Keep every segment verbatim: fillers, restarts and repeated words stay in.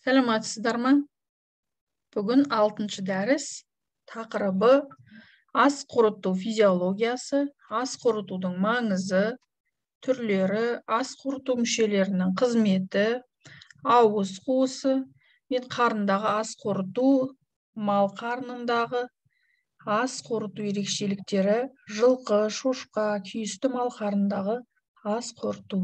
Сәлеметсіздер ме? Бүгін алтыншы дәріс тақырыбы ас қорыту физиологиясы, ас қорытудың маңызы, түрлері, ас қорыту мүшелерінің қызметі, ауыз қуысы мен қарындағы ас қорыту, мал қарнындағы ас қорыту ерекшеліктері, жылқы, шошқа, күйісті мал қарнындағы ас қорыту.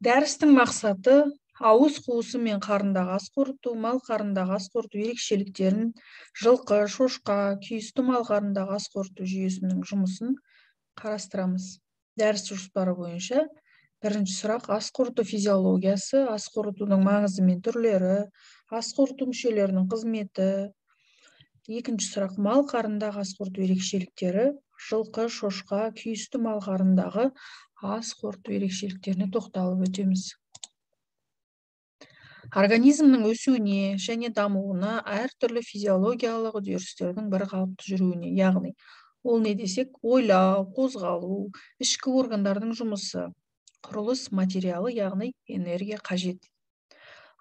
Дәрістің мақсаты ауыз қуысы мен қарындағы ас қорыту, мал қарнындағы ас қорыту ерекшеліктерін, жылқы, шошқа, күйісті мал қарнындағы ас қорыту жүйесінің жұмысын қарастырамыз. Дәріс жоспары бойынша бірінші сұрақ ас қорыту физиологиясы, ас қорытудың маңызы мен түрлері, ас қорыту мүшелерінің қызметі. Екінші сұрақ мал қарнындағы ас қорыту ерекшеліктері, жылқы, шошқа, күйісті мал қарнындағы ас қорыту ерекшеліктеріне тоқталып өтеміз. Организмнің өсуіне және дамуына әртүрлі физиологиялық үдерістердің бір қалыпты жүруіне, яғни ол не десек, ойлау, қозғалу, ішкі органдардың жұмысы, құрылыс материалы, яғни энергия қажет.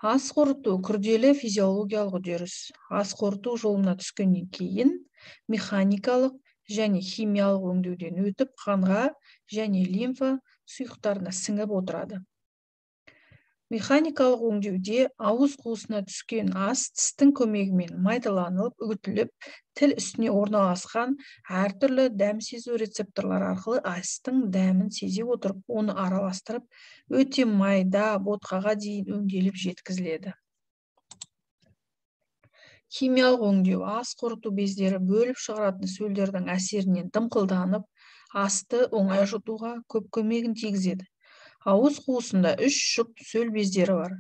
Ас қорыту күрделі физиологиялық үдеріс. Ас қорыту жолына түскеннен кейін механикалық және химиялық өңдеуден өтіп қанға және лимфа сұйықтарына сіңіп отырады. Механикалық өңдеуде ауыз қуысына түскен ас тістің көмегімен майдаланып, үгітіліп, тіл үстіне орналасқан әртүрлі дәм сезу рецепторлары арқылы астың дәмін сезе отырып, оны араластырып, өте майда ботқаға дейін өңделіп жеткізіледі. Химиялық өңдеу ас қорыту бездері бөліп шығаратын сөлдердің әсерінен дымқылданып, асты оңай жұтуға көп көмегін тигізеді. Ауыз қуысында үш жұп сөл бездері бар.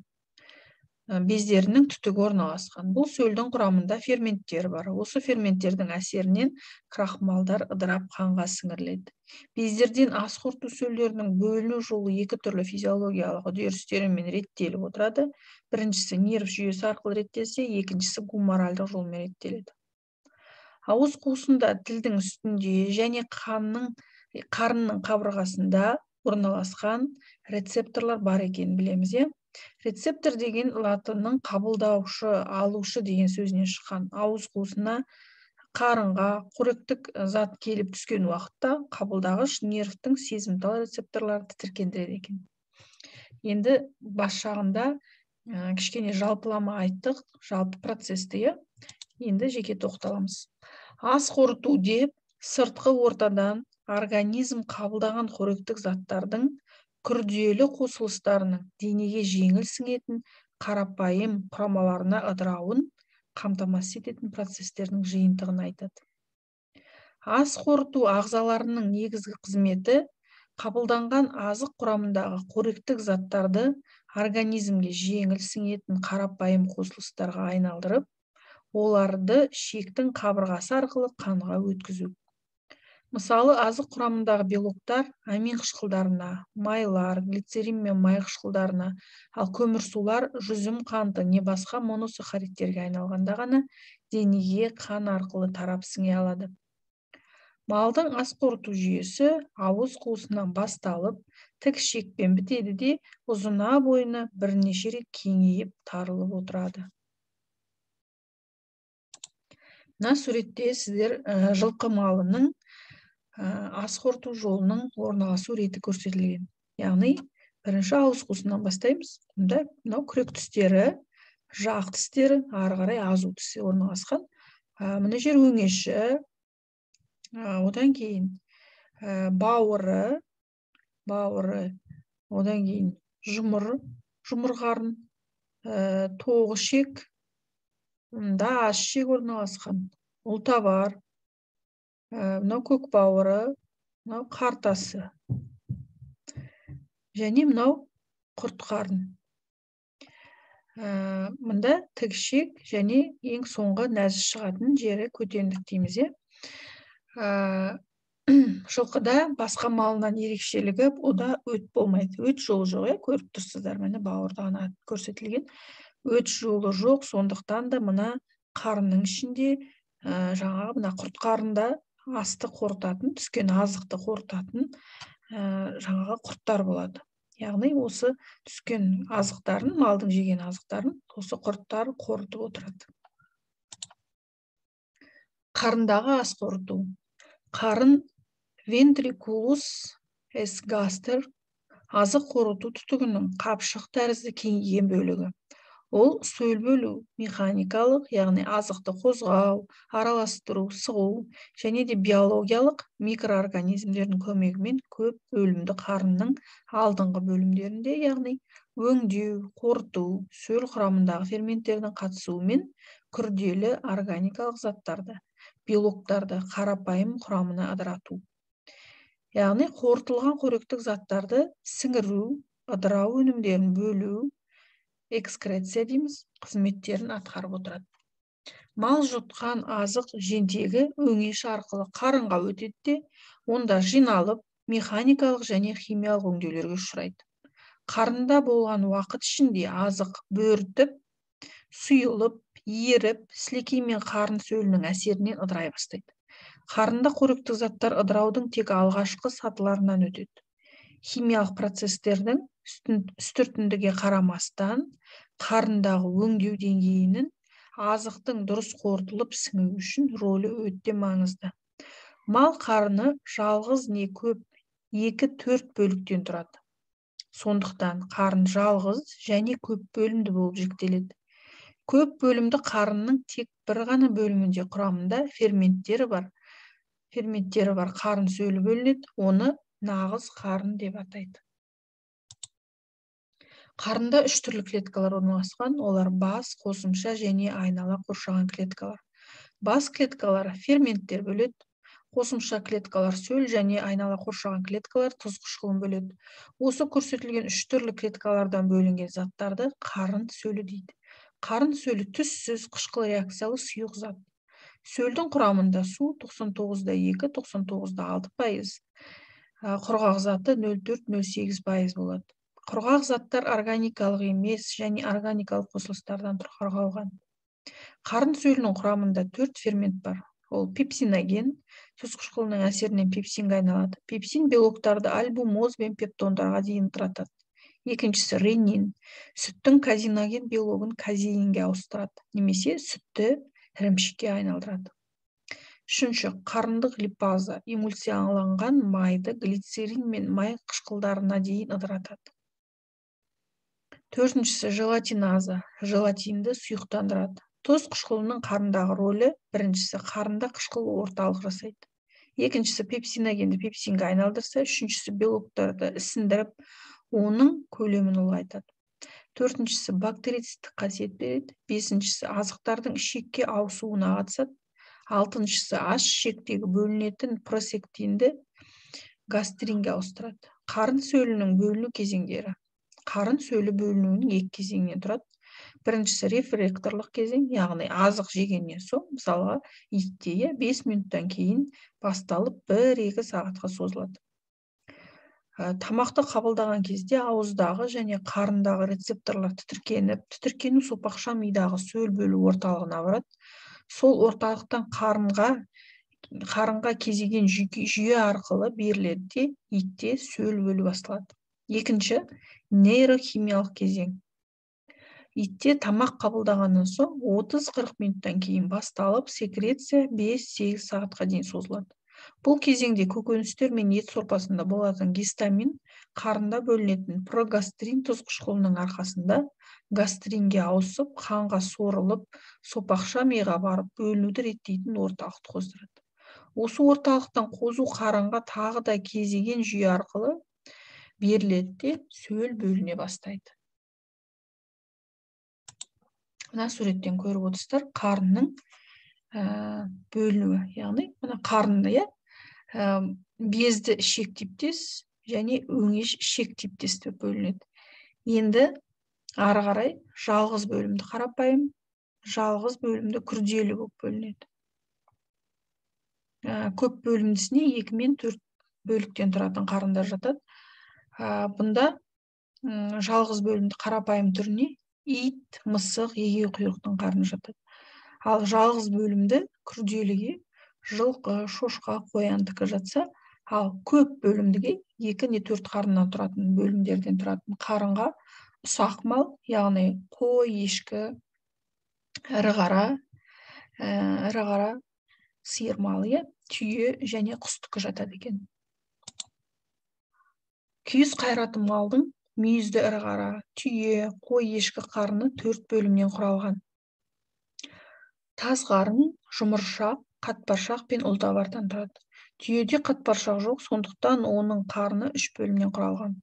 Бездерінің түтігі орналасқан. Бұл сөлдің құрамында ферменттер бар. Осы ферменттердің әсерінен крахмалдар ыдырап қанға сіңіріледі. Бездерден ас қорыту сөлдерінің бөліну жолы екі түрлі физиологиялық үдерістермен реттеліп отырады. Біріншісі нерв жүйесі арқылы реттелсе, екіншісі гуморальдық жолмен реттеледі. Ауыз қуысында тілдің үстінде және қанның, қарынның қабырғасында орналасқан рецепторлар бар екенін білеміз. Рецептор деген латынның қабылдаушы, алушы деген сөзінен шыққан. Ауыз қуысына қарынға қоректік зат келіп түскен уақытта қабылдағыш нервтің сезімтал рецепторларды тітіркендіреді екен. Енді бас жағында кішкене жалпылама айттық, жалпы процесті. Енді жеке тоқталамыз. Ас қорыту деп сыртқы ортадан организм қабылдаған қоректік заттардың күрделі қосылыстарының денеге жеңіл сіңетін қарапайым құрамаларына ыдырауын қамтамасыз ететін процестердің жиынтығын айтады. Ас қорыту ағзаларының негізгі қызметі қабылданған азық құрамындағы қоректік заттарды организмге жеңіл сіңетін қарапайым қосылыстарға айналдырып, оларды ішектің қабырғасы арқылы қанға өткізу. Мысалы, азық құрамындағы белоктар амин қышқылдарына, майлар, глицерин мен май қышқылдарына, ал көмірсулар жүзім қанты не басқа моносахаридтерге айналғанда ғана денеге қан арқылы тарап сіңе алады. Малдың ас қорыту жүйесі ауыз қуысынан басталып, тік ішекпен бітеді де ұзына бойына бірнеше рет кеңейіп тарылып отырады. Мына суретте сіздер жылқы малының ас қорыту жолының орналасу реті көрсетілген. Яғни, бірінші ауыз қуысынан бастаймыз. Мұнда мынау күрек тістері, жақ тістері, ары қарай азу тісі орналасқан. Мына жер өңеші, одан кейін бауыры, бауыры, одан кейін жұмыр, жұмыр қарын, тоғы ішек, мұнда ас ішек орналасқан, ұлтабар, мынау көк бауыры, мынау қартасы. Және мынау құрт қарын. Мұнда тікішек және ең соңғы нәзіс шығатын жері көтендік дейміз. Жылқыда басқа малынан ерекшелігі, ода өт болмайды. Өт жолы жоқ, көріп тұрсыздар, міне бауырда ғана көрсетілген. Өт жолы жоқ, сондықтан да мына қарынның ішінде жаңағы мына құрт қарында асты қорытатын, түскен азықты қорытатын жаңағы құрттар болады. Яғни осы түскен азықтарын, малдың жеген азықтарын осы құрттар қорытып отырады. Қарындағы ас қорыту. Қарын ventriculus esgaster азық қорыту түтігінің қапшық тәрізді кеңейген бөлігі. Ол сөл бөлу, механикалық, яғни азықты қозғау, араластыру, сығу және де биологиялық микроорганизмдердің көмегімен көп бөлімді қарынның алдыңғы бөлімдерінде, яғни өңдеу, қорыту, сөл құрамындағы ферменттердің қатысуымен күрделі органикалық заттарды, белоктарды қарапайым құрамына ыдырату. Яғни қорытылған қоректік заттарды сіңіру, ыдырау өнімдерін бөлу, экскреция дейміз, қызметтерін атқарып отырады. Мал жұтқан азық жентегі өңеш арқылы қарынға өтеді де, онда жиналып, механикалық және химиялық өңдеулерге ұшырайды. Қарында болған уақыт ішінде азық бөртіп, сұйылып, еріп, сілекей мен қарын сөлінің әсерінен ыдырай бастайды. Қарында қоректік заттар ыдыраудың тек алғашқы сатыларынан өтеді. Химиялық процестердің үстіртіндіге қарамастан, қарындағы өңдеу деңгейінің азықтың дұрыс қорытылып сіңуі үшін рөлі өте маңызды. Мал қарыны жалғыз не көп екі-төрт бөліктен тұрады. Сондықтан қарын жалғыз және көп бөлімді болып жіктеледі. Көп бөлімді қарынның тек бір ғана бөлімінде құрамында ферменттері бар. Ферменттері бар қарын сөлі бөлінеді, оны нағыз қарын деп атайды. Қарында үш түрлі клеткалар орналасқан, олар бас, қосымша және айнала қоршаған клеткалар. Бас клеткалары ферменттер бөледі, қосымша клеткалар сөл және айнала қоршаған клеткалар тұз қышқылын бөледі. Осы көрсетілген үш түрлі клеткалардан бөлінген заттарды қарын сөлі дейді. Қарын сөлі түссіз қышқыл реакциялы сұйық зат. Сөлдің құрамында су тоқсан тоғыз да екі - тоқсан тоғыз да алты пайыз, құрғақ заты нөл төрт - нөл сегіз пайыз болады. Құрғақ заттар органикалық емес және органикалық қосылыстардан құралған. Қарын сөлінің құрамында төрт фермент бар. Ол пепсиноген, тұз қышқылының әсерінен пепсинге айналады. Пепсин белоктарды альбумоз бен пептондарға дейін ыдыратады. Екіншісі ренин, сүттің казиноген белогын казеинге ауыстырады, немесе сүтті ірімшікке айналдырады. Үшінші, қарындық липаза, эмульсияланған майды глицерин мен май қышқылдарына дейін ыдыратады. Төртіншісі, желатиназа, желатинді сұйықтандырады. Тұз қышқылының қарындағы рөлі: біріншісі, қарында қышқыл орталық жасайды. Екіншісі, пепсиногенді пепсинге айналдырса, үшіншісі, белоктарды ісіндіріп, оның көлемін ұлғайтады. Төртіншісі, бактерицидтік қасиет береді. Бесіншісі, азықтардың ішекке ауысуына қатысады. Алтыншысы, аш ішектегі бөлінетін просектинді гастринге ауыстырады. Қарын сөлінің бөліну кезеңдері. Қарын сөлі бөлінуінің екі кезеңнен тұрады. Біріншісі, рефректорлық кезең, яғни азық жегеннен соң, мысалға итте бес минуттан кейін басталып бір-екі сағатқа созылады. Тамақты қабылдаған кезде ауыздағы және қарындағы рецепторлар тітіркеніп, тітіркену сопақша мидағы сөл бөлу орталығына барады. Сол орталықтан қарынға, қарынға кезеген жүйе арқылы беріледі де, итте сөл бөлу басталады. Екінші, нейрохимиялық кезең. Итте тамақ қабылдағаннан соң отыз-қырық минуттан кейін басталып, секреция бес-сегіз сағатқа дейін созылады. Бұл кезеңде көкөністер мен ет сорпасында болатын гистамин қарында бөлінетін прогастрин тұз қышқылының арқасында гастринге ауысып, қанға сорылып, сопақша миға барып бөлінуді реттейтін орталықты қоздырады. Осы орталықтан қозу қарынға тағы да кезеген жүйе арқылы беріледі де сөл бөліне бастайды. Мына суреттен көріп отырсыздар, қарынның бөлінуі, яғни мына қарынды безді ішек типтес және өңеш ішек типтес деп бөлінеді. Енді ары қарай жалғыз бөлімді қарапайым, жалғыз бөлімді күрделі болып бөлінеді. Көп бөлімдісіне екі мен төрт бөліктен тұратын қарындар жатады. Бұнда жалғыз бөлімді қарапайым түріне ит, мысық, егеу құйрықтың қарны жатады. Ал жалғыз бөлімді күрделіге жылқы, шошқа, қояндікі жатса, Ал көп бөлімдіге екі не төрт қарыннан тұратын бөлімдерден тұратын қарынға ұсақ мал, яғни қой, ешкі, ірі қара, ә, ірі қара, сиыр малы, түйе және құстікі жатады екен. Күйіс қайраты малдың мүйізді ірі қара, түйе, қой, ешкі қарны төрт бөлімнен құралған. Таз қарын жұмыршақ, қатпаршақ пен ұлтабардан тұрады. Түйеде қатпаршақ жоқ, сондықтан оның қарны үш бөлімнен құралған.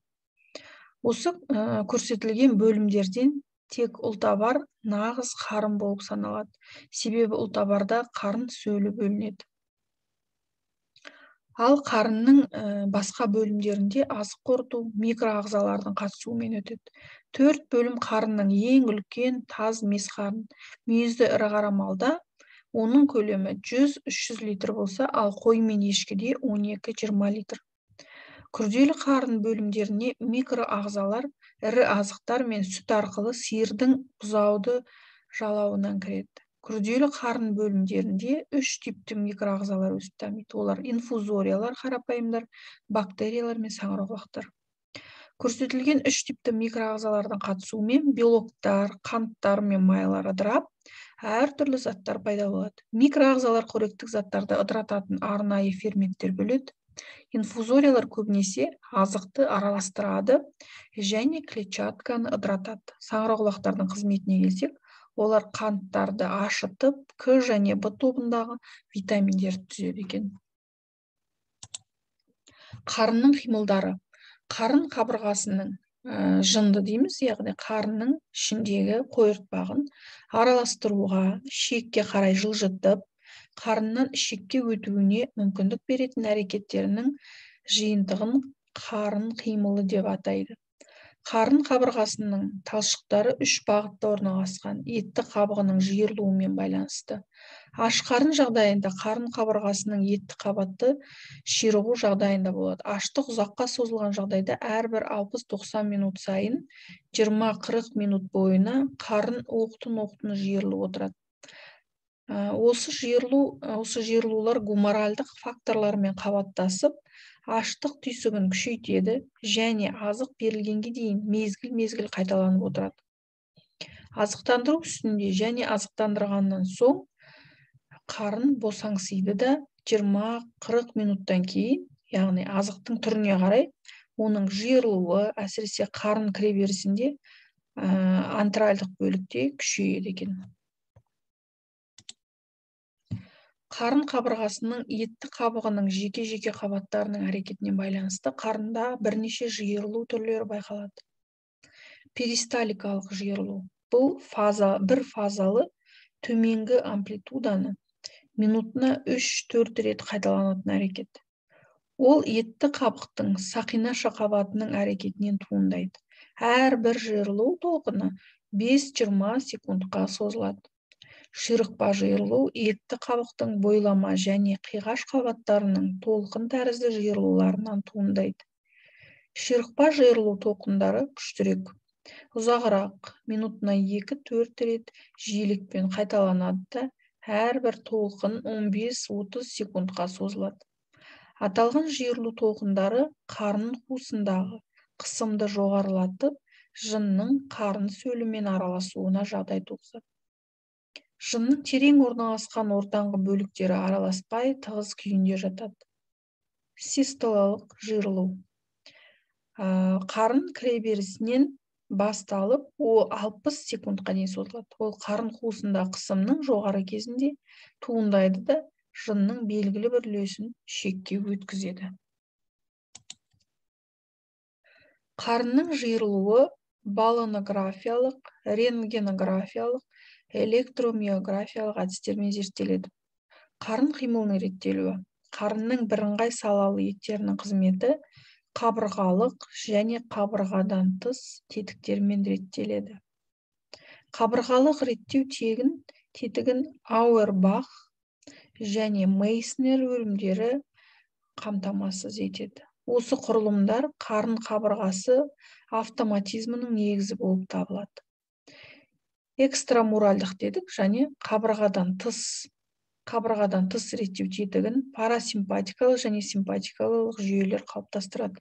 Осы ә, көрсетілген бөлімдерден тек ұлтабар нағыз қарын болып саналады. Себебі ұлтабарда қарын сөлі бөлінеді. Ал қарынның ә, басқа бөлімдерінде азық қорыту микроағзалардың қатысуымен өтеді. Төрт бөлім қарынның ең үлкен таз мес қарын. Мүйізді ірі қара малда оның көлемі жүз үш жүз литр болса, ал қой мен ешкіде он екі жиырма литр. Күрделі қарын бөлімдеріне микроағзалар ірі азықтар мен сүт арқылы сиырдың бұзауды жалауынан кіреді. Күрделі қарын бөлімдерінде үш типті микроағзалар өсіп дамиды. Олар инфузориялар, қарапайымдар, бактериялар мен саңырауқұлақтар. Көрсетілген үш типті микроағзалардың қатысуымен белоктар, қанттар мен майлар ыдырап, әртүрлі заттар пайда болады. Микроағзалар қоректік заттарды ыдырататын арнайы ферменттер бөледі. Инфузориялар көбінесе азықты араластырады және клетчатканы ыдыратады. Саңырауқұлақтардың қызметіне келсек, олар қанттарды ашытып, К және Б тобындағы витаминдерді түзеді екен. Қарынның қимылдары. Қарын қабырғасының ә, жынды дейміз, яғни қарынның ішіндегі қойыртпағын араластыруға, шекке қарай жылжытып, қарыннан ішекке өтуіне мүмкіндік беретін әрекеттерінің жиынтығын қарын қимылы деп атайды. Қарын қабырғасының талшықтары үш бағытта орналасқан. Етті қабығының жиырылуымен байланысты. Аш қарын жағдайында қарын қабырғасының етті қабаты ширығу жағдайында болады. Аштық ұзаққа созылған жағдайда әрбір алпыс тоқсан минут сайын жиырма қырық минут бойына қарын оқтын-оқтын жиырылып отырады. Осы жиырылу, осы жиырылулар гуморальдық факторлармен қабаттасып, аштық түйсігін күшейтеді және азық берілгенге дейін мезгіл-мезгіл қайталанып отырады. Азықтандыру үстінде және азықтандырғаннан соң қарын босаңсиды да жиырма қырық минуттан кейін, яғни азықтың түріне қарай, оның жиырылуы, әсіресе қарын кіреберісінде антральдық бөлікте күшейеді екен. Қарын қабырғасының етті қабығының жеке-жеке қабаттарының әрекетіне байланысты қарында бірнеше жиырылу түрлері байқалады. Перисталикалық жиырылу. Бұл фаза, бір фазалы төменгі амплитуданы минутына үш төрт рет қайталанатын әрекет. Ол етті қабықтың сақинаша қабатының әрекетінен туындайды. Әрбір жиырылу толқыны бес жиырма секундқа созылады. Ширықпа жиырылу етті қабықтың бойлама және қиғаш қабаттарының толқын тәрізді жиырылуларынан туындайды. Ширықпа жиырылу толқындары күштірек, ұзағырақ, минутына екі төрт рет жиілікпен қайталанады да, әрбір толқын он бес отыз секундқа созылады. Аталған жиырылу толқындары қарын қуысындағы қысымды жоғарылатып, жынның қарын сөлімен араласуына жағдай туғызады. Жынның терең орналасқан ортаңғы бөліктері араласпай тығыз күйінде жатады. Систолалық жиырылу. Қарын кіреберісінен басталып, ол алпыс секундқа дейін созылады. Ол қарын қуысында қысымның жоғары кезінде туындайды да, жынның белгілі бір үлесін шекке өткізеді. Қарынның жиырылуы баллонографиялық, рентгенографиялық, электромиографиялық әдістермен зерттеледі. Қарын қимылының реттелуі. Қарынның бірыңғай салалы еттерінің қызметі қабырғалық және қабырғадан тыс тетіктермен реттеледі. Қабырғалық реттеу тегін тетігін Ауэрбах және Мейснер бөлімдері қамтамасыз етеді. Осы құрылымдар қарын қабырғасы автоматизмінің негізі болып табылады. Экстрамуральдық дедік, және қабырғадан тыс қабырғадан тыс реттеу тетігін парасимпатикалық және симпатикалық жүйелер қалыптастырады.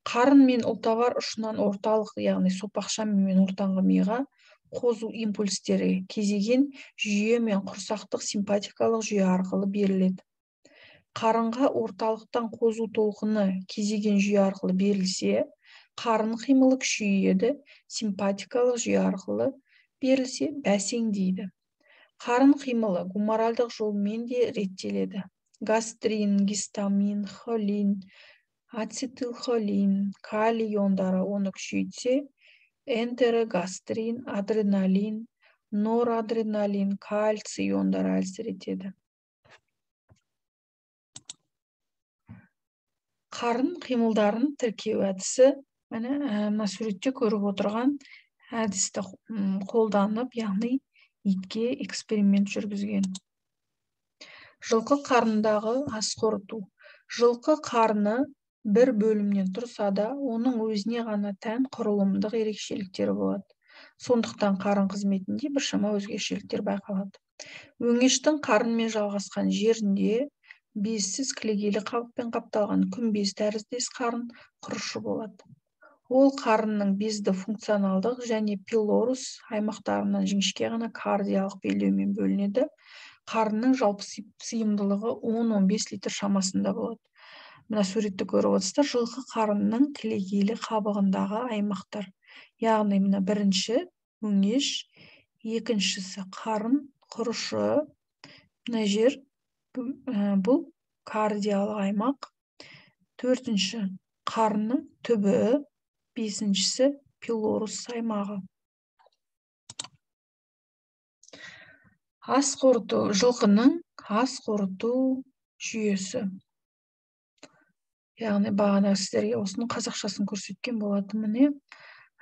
Қарын мен ұлтабар ұшынан орталық, яғни сопақша мен ортаңғы миға қозу импульстері кезеген жүйе мен құрсақтық симпатикалық жүйе арқылы беріледі. Қарынға орталықтан қозу толқыны кезеген жүйе арқылы берілсе, қарын қимылы күшейеді, симпатикалық жүйе арқылы берілсе, бәсеңдейді. Қарын қимылы гуморальдық жолмен де реттеледі. Гастрин, гистамин, холин, ацетилхолин, калий иондары оны күшейтсе, энтерогастрин, адреналин, норадреналин, кальций иондары әлсір етеді. Қарын қимылдарын тіркеу әдісі, мына суретте көріп отырған әдісті қолданып, яғни итке эксперимент жүргізген. Жылқы қарнындағы ас қорыту. Жылқы қарны бір бөлімнен тұрса да, оның өзіне ғана тән құрылымдық ерекшеліктері болады. Сондықтан қарын қызметінде біршама өзгешеліктер байқалады. Өңештің қарынмен жалғасқан жерінде безсіз кілегейлі қабықпен қапталған күмбез тәріздес қарын құрышы болады. Ол қарынның безді функционалдық және пилорус аймақтарынан жіңішке ғана кардиялық белдеумен бөлінеді. Қарынның жалпы сыйымдылығы он он бес литр шамасында болады. Мына суретті көріп отырсыздар, жылқы қарынның кілегейлі қабығындағы аймақтар. Яғни мына бірінші өңеш, екіншісі қарын құрышы, мына жер бұл кардиялық аймақ, төртінші қарынның түбі, бесіншісі пилорус аймағы. Ас қорыту, жылқының ас қорыту жүйесі. Яғни бағана сіздерге осының қазақшасын көрсеткен болатын міне.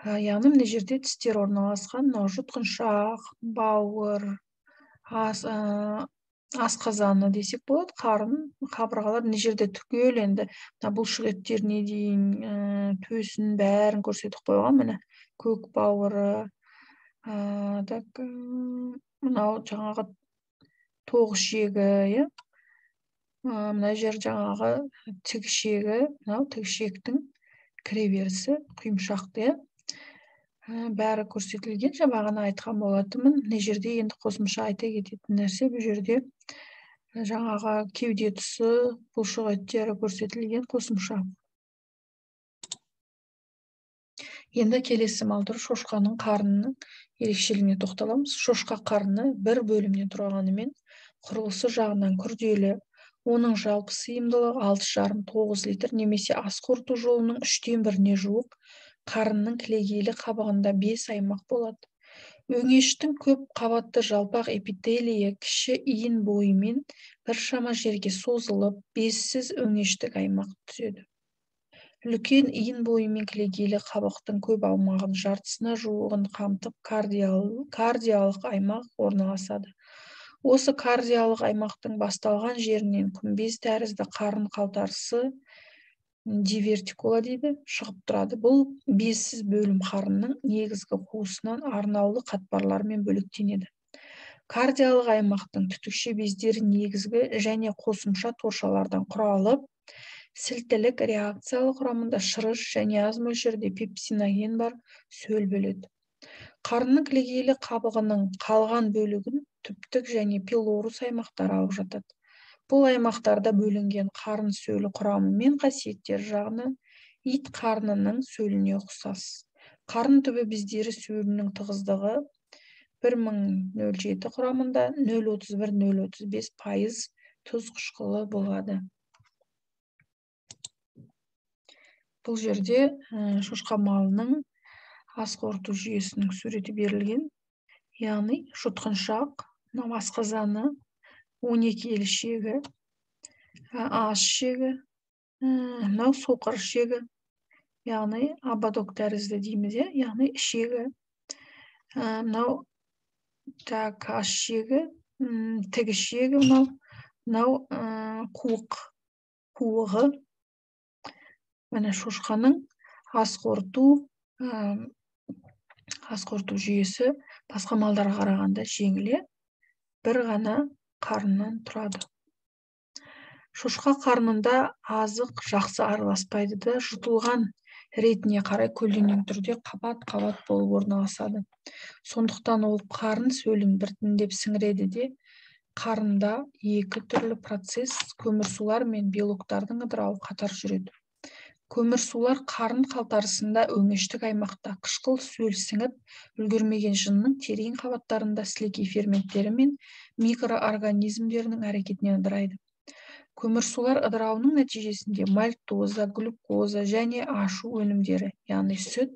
Яғни мына жерде тістер орналасқан, мынау жұтқыншақ, бауыр, асқазаны десек болады, қарын, қабырғалар мына жерде түгел енді бұлшық еттеріне дейін төсін бәрін көрсетіп қойған, міне көк бауыры, мынау жаңағы тоғыз ішегі, мына жер жаңағы тікішегі, мынау тікішектің кіреберісі, құйымшақты, бәрі көрсетілген. Бағана айтқан болатынмын. Мына жерде енді қосымша айта кететін нәрсе, бұл жерде жаңағы кеуде тұсы, бұлшық еттері көрсетілген қосымша. Енді келесі мал түрі шошқаның қарнының ерекшелігіне тоқталамыз. Шошқа қарны бір бөлімнен тұрғанымен құрылысы жағынан күрделі. Оның жалпы сыйымдылығы алты жарым тоғыз литр немесе ас қорыту жолының үштен біріне жуық. Қарынның кілегейлі қабығында бес аймақ болады. Өңештің көп қабатты жалпақ эпителийі кіші иін бойымен біршама жерге созылып, безсіз өңештік аймақ түседі. Үлкен иін бойымен кілегейлі қабықтың көп аумағын жартысына жуығын қамтып кардиялық аймақ орналасады. Осы кардиялық аймақтың басталған жерінен күмбез тәрізді қарын қалтарысы дивертикула дейді, шығып тұрады. Бұл безсіз бөлім қарынның негізгі қуысынан арнаулы қатпарлармен бөліктенеді. Кардиялық аймақтың түтікше бездері негізгі және қосымша торшалардан құралып, сілтілік реакциялық құрамында шырыш және аз мөлшерде пепсиноген бар сөл бөледі. Қарынның кілегейлі қабығының қалған бөлігін түптік және пилорус аймақтары алып жатады. Бұл аймақтарда бөлінген қарын сөлі құрамы мен қасиеттер жағынан ит қарнының сөліне ұқсас. Қарын түбі бездері сөлінің тығыздығы бір мың нөл жеті құрамында нөл отыз бір нөл отыз бес пайыз тұз қышқылы болады. Бұл жерде шошқа малының ас қорыту жүйесінің суреті берілген. Яғни жұтқыншақ, асқазаны, он екі елі ішегі, ас ішегі, мынау соқыр ішегі, яғни ободок тәрізді дейміз, яғни ішегі, мынау ас ішегі, тік ішегі, мынау қуық, қуығы. Міне шошқаның ас қорыту ас қорыту жүйесі басқа малдарға қарағанда жеңіле, бір ғана қарыннан тұрады. Шошқа қарнында азық жақсы араласпайды да, жұтылған ретіне қарай көлденең түрде қабат-қабат болып орналасады. Сондықтан ол қарын сөлін біртіндеп сіңіреді де, қарында екі түрлі процесс көмірсулар мен белоктардың ыдырауы қатар жүреді. Көмірсулар қарын қалтарысында өңештік аймақта қышқыл сөл сіңіп үлгермеген жынның терең қабаттарында сілекей ферменттері мен микроорганизмдерінің әрекетінен ыдырайды. Көмірсулар ыдырауының нәтижесінде мальтоза, глюкоза және ашу өнімдері, яғни сүт,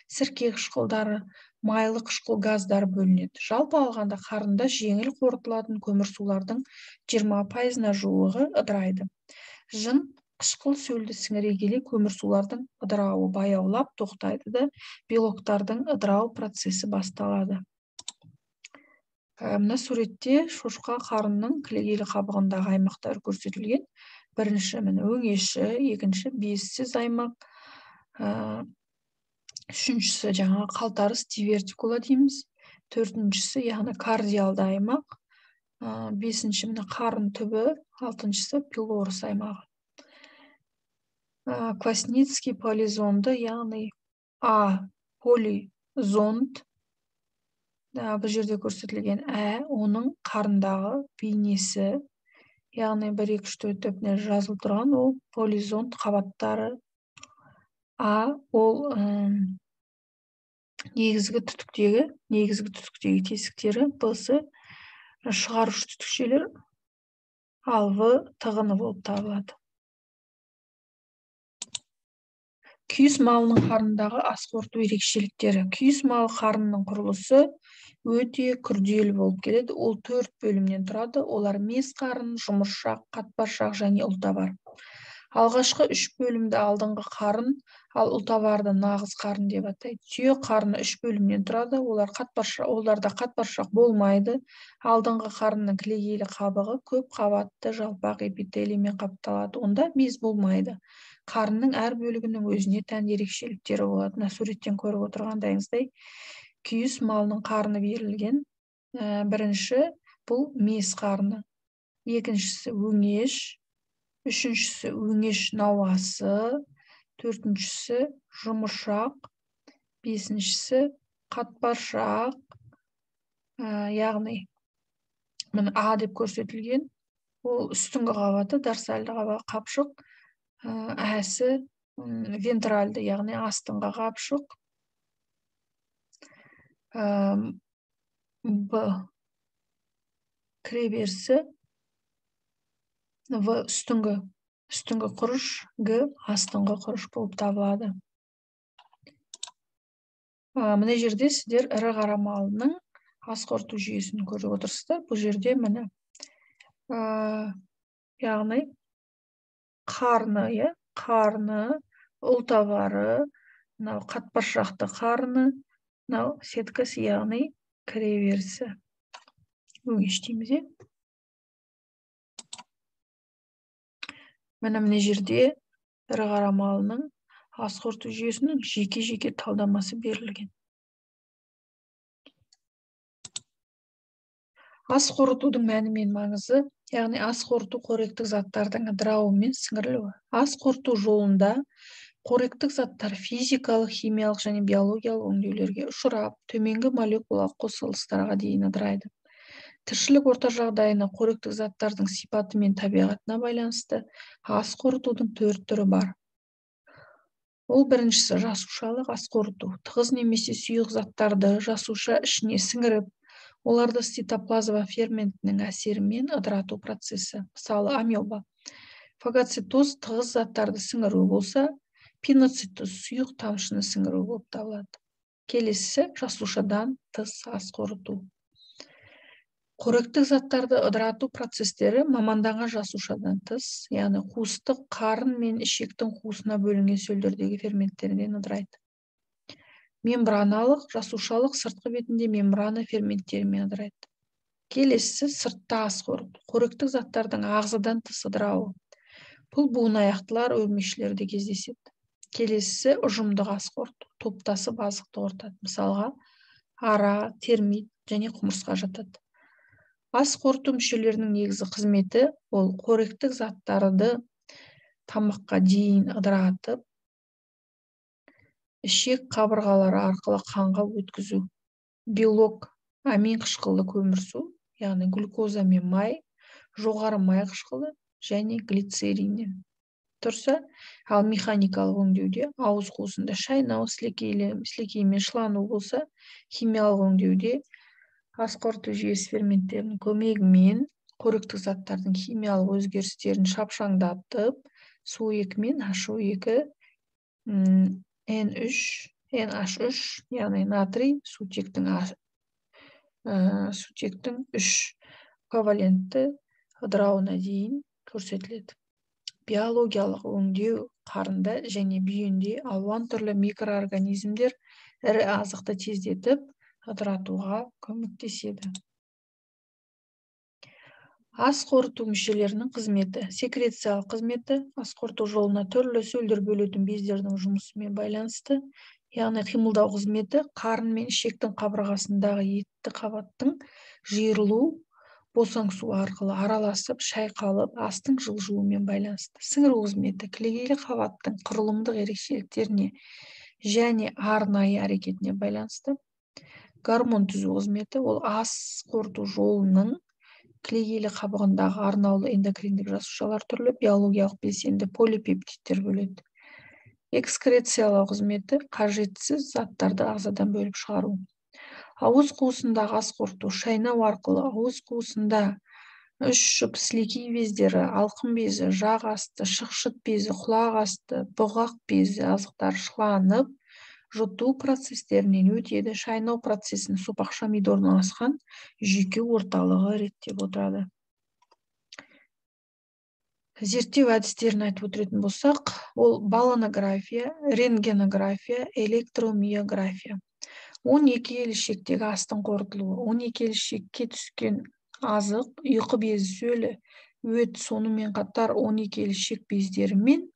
сірке қышқылдары, майлы қышқыл газдары бөлінеді. Жалпы алғанда қарында жеңіл қорытылатын көмірсулардың жиырма пайызына жуығы ыдырайды. Жын қышқыл сөлді сіңіре келе көмірсулардың ыдырауы баяулап тоқтайды да, белоктардың ыдырау процесі басталады. Мына суретте шошқа қарынның кілегейлі қабығындағы аймақтары көрсетілген. Бірінші міне өңеші, екінші бессіз аймақ, үшіншісі жаңа қалтарыс дивертикула дейміз, төртіншісі яғни кардиалды аймақ, бесінші міне қарын түбі, алтыншысы пилорус аймағы. Квасницкий полизонды, яғни А полизонд, бұл жерде көрсетілген ә, оның қарындағы бейнесі, яғни бір, екі, үш, төрт деп жазылып тұрған, ол полизонд қабаттары. А ол негізгі түтіктегі, негізгі түтіктегі тесіктері, Б-сы шығарушы түтікшелер, ал В тығыны болып табылады. Күйіс малының қарындағы ас қорыту ерекшеліктері. Күйіс малы қарынның құрылысы өте күрделі болып келеді. Ол төрт бөлімнен тұрады. Олар мес қарын, жұмыршақ, қатпаршақ және ұлтабар. Алғашқы үш бөлімді алдыңғы қарын, ал ұлтабарды нағыз қарын деп атайды. Түйе қарны үш бөлімнен тұрады. Олар қатпаршақ, оларда қатпаршақ болмайды. Алдыңғы қарынның кілегейлі қабығы көп қабатты жалпақ эпителиймен қапталады. Онда без болмайды. Қарынның әр бөлігінің өзіне тән ерекшеліктері болады. Мына суреттен көріп отырғандайыңыздай, күйіс малының қарны берілген. Бірінші бұл мес қарны, екіншісі өңеш, үшіншісі өңеш науасы, төртіншісі жұмыршақ, бесіншісі қатпаршақ, яғни міне А деп көрсетілген, ол үстіңгі қабаты, дорсальды қабығы қапшық, әсі вентральды, яғни астыңғы қапшық, Б кіреберісі, В үстіңгі, үстіңгі құрыш, Г астыңғы құрыш болып табылады. Мына жерде сіздер ірі қара малының ас қорыту жүйесін көріп отырсыздар. Бұл жерде міне, яғни қарны, қарны, ұлтабары, мынау қатпаршақты қарны, мынау сеткасы, яғни кіреберісі. Өңеш дейміз. Міне мына жерде ірі қара малының ас қорыту жүйесінің жеке-жеке талдамасы берілген. Ас қорытудың мәні мен маңызы, яғни ас қорыту қоректік заттардың ыдырауы мен сіңірілуі. Ас қорыту жолында қоректік заттар физикалық, химиялық және биологиялық өңдеулерге ұшырап, төменгі молекулалық қосылыстарға дейін ыдырайды. Тіршілік орта жағдайына қоректік заттардың сипаты мен табиғатына байланысты ас қорытудың төрт түрі бар. Ол біріншісі жасушалық ас қорыту. Тығыз немесе сұйық заттарды жасуша ішіне сіңіріп, оларды цитоплазма ферментінің әсерімен ыдырату процесі. Мысалы, амеба. Фагоцитоз тығыз заттарды сіңіру болса, пиноцитоз сұйық тамшыны сіңіру болып табылады. Келесі жасушадан тыс ас қорыту. Қоректік заттарды ыдырату процестері маманданған жасушадан тыс, яғни қуыстық қарын мен ішектің қуысына бөлінген сөлдердегі ферменттерден ыдырайды. Мембраналық, жасушалық сыртқы бетінде мембрана ферменттерімен ыдырайды. Келесі сыртта ас қорыту. Қоректік заттардың ағзадан тыс ыдырауы. Бұл буынаяқтылар, өрмекшілерде кездеседі. Келесі ұжымдық ас қорыту. Топтасып азықты қорытады. Мысалға, ара, термит және құмырсқа жатады. ас қорыту мүшелерінің негізгі қызметі ол қоректік заттарды тамаққа дейін ыдыратып, ішек қабырғалары арқылы қанға өткізу. Белок, амин қышқылды көмірсу, яғни глюкоза мен май, жоғары май қышқылы және глицериннен тұрса, ал механикалық өңдеуде ауыз қуысында шайнау, сілекеймен шылану болса, химиялық өңдеуде ас қорыту жүйесі ферменттерінің көмегімен қоректік заттардың химиялық өзгерістерін шапшаңдатып, су екі мен H O екі, N үш, NH үш, яғни натрий сутектің сутектің үш ковалентті ыдырауына дейін көрсетіледі. Биологиялық өңдеу қарында және бүйенде алуан түрлі микроорганизмдер ірі азықты тездетіп, ыдыратуға көмектеседі. Ас қорыту мүшелерінің қызметі. Секрециялық қызметі ас қорыту жолына түрлі сөлдер бөлетін бездердің жұмысымен байланысты, яғни қимылдау қызметі қарын мен ішектің қабырғасындағы етті қабаттың жиырылу, босаңсу арқылы араласып, шайқалып, астың жылжуымен байланысты. Сіңіру қызметі кілегейлі қабаттың құрылымдық ерекшеліктеріне және арнайы әрекетіне байланысты. Гормон түзу қызметі ол ас қорыту жолының кілегейлі қабығындағы арнаулы эндокриндік жасушалар түрлі биологиялық белсенді полипептидтер бөледі. Экскрециялау қызметі қажетсіз заттарды ағзадан бөліп шығару. Ауыз қуысындағы ас қорыту шайнау арқылы ауыз қуысында үш жұп сілекей бездері, алқым безі, жақ асты, шықшыт безі, құлақ асты, бұғақ безі азықтар шыланып, жұту процестерінен өтеді. Шайнау процесін сопақша мида орналасқан жүйке орталығы реттеп отырады. Зерттеу әдістерін айтып өтетін болсақ, ол баллонография, рентгенография, электромиография. он екі ел ішектегі астың қорытылуы, он екі ел ішекке түскен азық, ұйқы безі сөлі, өт, сонымен қатар он екі ел ішек бездері мен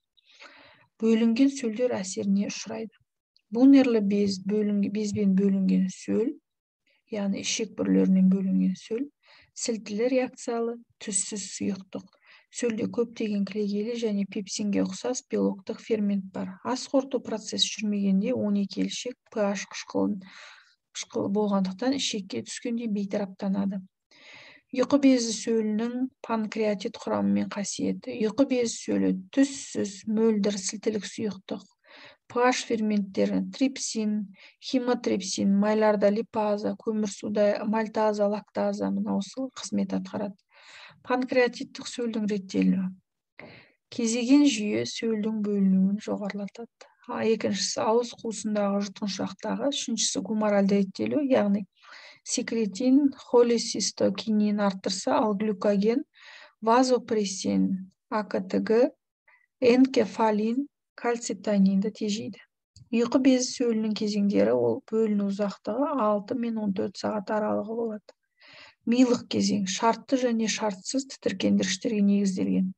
бөлінген сөлдер әсеріне ұшырайды. Бунерлі без, безбен бөлінген сөл, яғни ішек бүрлерінен бөлінген сөл, сілтілі реакциялы, түссіз сұйықтық. Сөлде көптеген кілегейлі және пепсинге ұқсас белоктық фермент бар. Ас қорыту процесі жүрмегенде он екі ел ішек pH қышқылы болғандықтан ішекке түскенде бейтараптанады. Ұйқы безі сөлінің панкреатит құрамы мен қасиеті. Ұйқы безі сөлі түссіз, мөлдір, сілтілік сұйықтық. pH ферменттері трипсин, химотрипсин, майларда липаза, көмірсуда мальтаза, лактаза мынаусы қызмет атқарады. Панкреатиттік сөлдің реттелуі. Кезеген жүйе сөлдің бөлінуін жоғарылатады. Екіншісі ауыз қуысындағы жұтқыншақтағы, үшіншісі гуморальды реттелу, яғни секретин, холецистокинин арттырса, ал глюкоген, вазопрессин, А К Т Г, энкефалин, кальцитонинді тежейді. Ұйқы безі сөлінің кезеңдері ол бөліну ұзақтығы алты мен он төрт сағат аралығы болады. Милық кезең шартты және шартсыз тітіркендіргіштерге негізделген.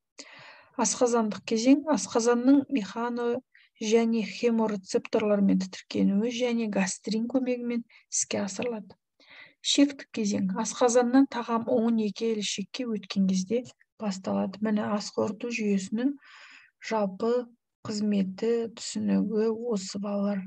Асқазандық кезең асқазанның механо және хеморецепторлармен тітіркенуі және гастрин көмегімен іске асырылады. Ішектік кезең асқазаннан тағам он екі ел ішекке өткен кезде басталады. Міне ас қорыту жүйесінің жалпы қызметі, түсінігі осы балалар.